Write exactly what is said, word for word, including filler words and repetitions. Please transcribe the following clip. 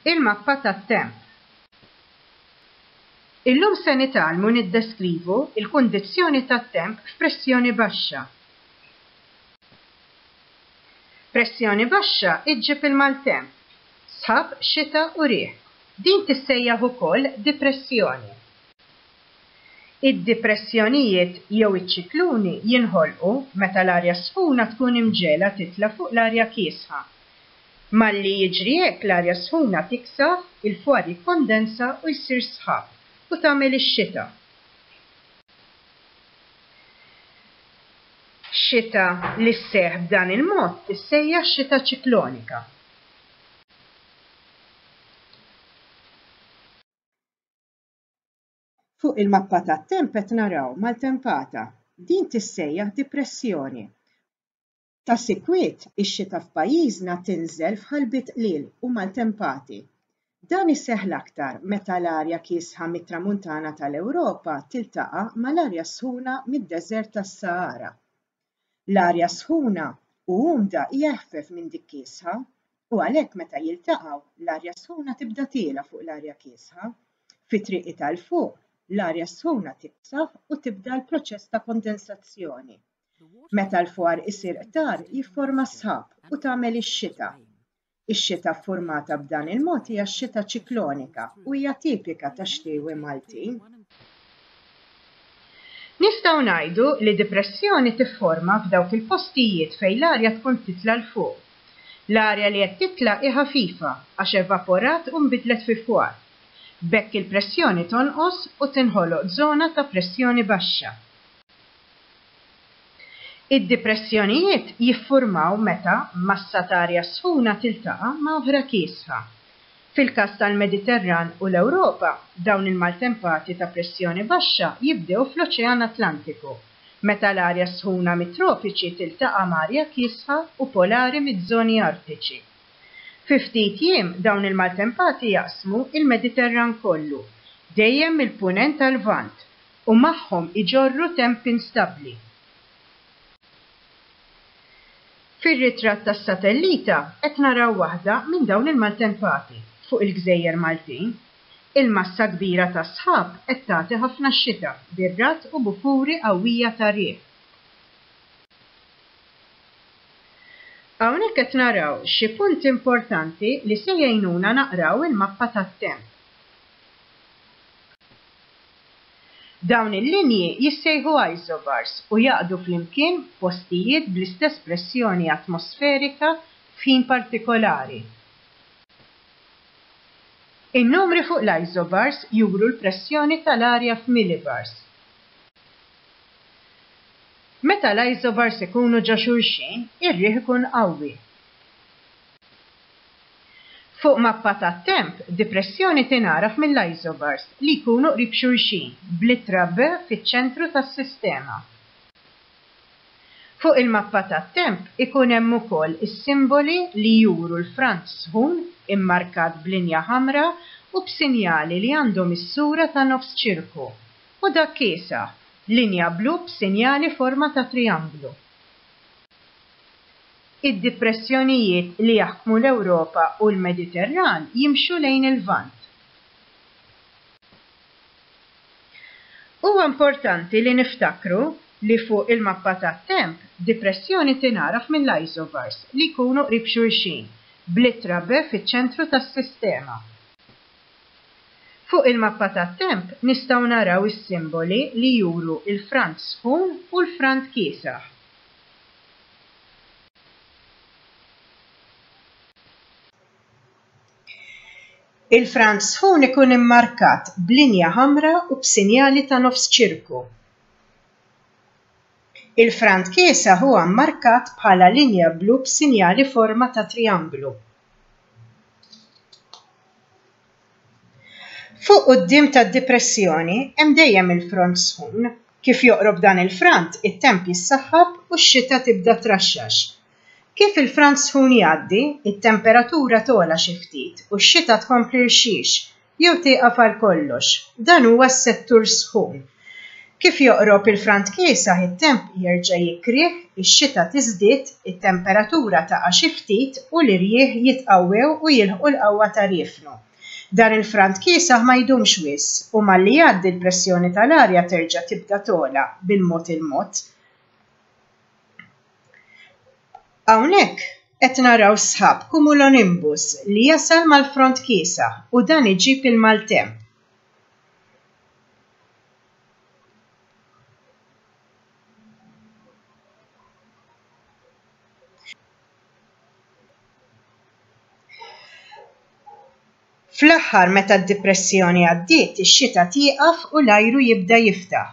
Il-mappa tat-temp. Illum se nitgħallmu niddeskrivu l-kundizzjoni tat-temp f'pressjoni baxxa. Pressjoni baxxa iġġib il-maltemp, sħab, xita u riħ. Din tissejjaħ ukoll dipressjoni. Id-dipressjonijiet jew iċ-ċikluni jinħolqu meta l-arja sħuna tkun imġegħla titla' fuq l-arja kiesħa. Malli jiġri hekk l-arja sħuna tiksaħ, il-fwar jikkondensa u jsir sħab u tagħmel ix-xita. Xita li sseħħ b'dan il-mod tissejjaħ xita ċiklonika. Fuq il-mappa tat-temp qed naraw maltempata. Din tissejjaħ dipressjoni. Ta' sikwit, ix-xita f'pajjiżna tinżel f'ħalbiet qliel u maltempati. Dan iseħħ l-aktar meta l-arja kiesħa mit-tramuntana tal-Ewropa tiltaqa' mal-arja sħuna mid-deżert tas-Sahara. L-arja sħuna u umda hija eħfef minn dik kiesħa u għalhekk meta jiltaqgħu l-arja sħuna tibda tiela' fuq l-arja kiesħa. Fi triqi tal-fuq, l-arja sħuna tiksaħ u tibda l-proċess ta' kondensazzjoni. Meta l-fwar isir qtar jifforma sħab u tagħmel ix-xita. Ix-xita ffurmata b'dan il-mod hija x-xita ċiklonika u hija tipika tax-xtiewi Maltin. Nistgħu ngħidu li dipressjoni tifforma f'dawk il-postijiet fejn l-arja tkun titla' 'l fuq. L-arja li qed titla' hi ħafifa għax evaporat u nbidlet fi fwar. B'hekk il-pressjoni tonqos u tinħoloq żona ta' pressjoni baxxa. Id-dipressjonijiet jiffurmaw meta massa ta' arja sħuna tiltaqa' ma' oħra kiesħa. Fil-każ tal-Mediterran u l-Ewropa, dawn il-maltempati ta' pressjoni baxxa jibdew fl-Oċean Atlantiku, meta l-arja sħuna mit-tropiċi tiltaqa' ma' arja kiesħa u polari miż-żoni artiċi. Fi ftit jiem dawn il-maltempati jaqsmu il-Mediterran kollu, dejjem mill-punent tal-Lvant, u magħhom iġorru temp instabbli. Fir-ritratt tas-satellita qed naraw waħda minn dawn il-maltempati fuq il-Gżejjer Maltin. Il-massa kbira ta' sħab qed tagħti ħafna xita bir-ragħad u bufuri qawwija ta' riħ. Hawnhekk qed naraw xi punti importanti li se jgħinuna naqraw il-mappa tat-temp. Dawn il-linji jissejħu isobars u jaqdu flimkien postijiet bl-istess pressjoni atmosferika f'ħin partikolari. In-numri fuq l-isobars juru l-pressjoni tal-arja f'millibars. Meta l-isobars ikunu ġo xulxin, ir-riħ ikun qawwi. Fuq mappa tat-temp, dipressjoni tingħaraf mill-isobars li jkunu qrib xulxin bl-ittra B fiċ-ċentru tas-sistema. Fuq il-mappa tat-temp ikun hemm ukoll is-simboli li juru l-front sħun immarkat b'linja ħamra u b'sinjali li għandhom is-sura ta' nofs ċirku u dak kiesaħ, linja blu b'sinjali forma ta' trianglu. Id-dipressjonijiet li jaħkmu l-Ewropa u l-Mediterran jimxu lejn il-Lvant. Huwa importanti li niftakru li fuq il-mappa tat-temp dipressjoni tingħaraf mill-isobars li jkunu qrib xulxin bl-ittra B fiċ-ċentru tas-sistema. Fuq il-mappa tat-temp nistgħu naraw is-simboli li juru l-front sħun u l-front kiesaħ. Il-front sħun ikun immarkat b'linja ħamra u b'sinjali ta' nofs ċirku. Il-front kiesaħ huwa mmarkat bħala linja blu b'sinjali forma ta' trianglu. Fuq quddiem tad-dipressjoni hemm dejjem il-front sħun. Kif joqrob dan il-front, it-temp jissaħħab u x-xita tibda traxxax. Kif il-front sħun jgħaddi, it-temperatura togħla xi ftit u x-xita tkompli rxix jew tieqaf għal kollox. Dan huwa s-settur sħun. Kif joqrob il-front kiesaħ, it-temp jerġa' jikrih, Ix-xita tiżdied, it-temperatura taqa' xi ftit u l-irjieħ jitqawwew u jilħqu l-qawwa ta' riefnu. Dan il-front kiesaħ ma jdumx wisq u malli jgħaddi l-pressjoni tal-arja terġa' tibda togħla bil-mod il-mod. Hawnhekk qed naraw sħab cumulonimbus li jasal mal-front kiesaħ u dan iġib il-maltemp. Fl-aħħar meta d-dipressjoni għaddiet, ix-xita tieqaf u l-ajru jibda jiftaħ.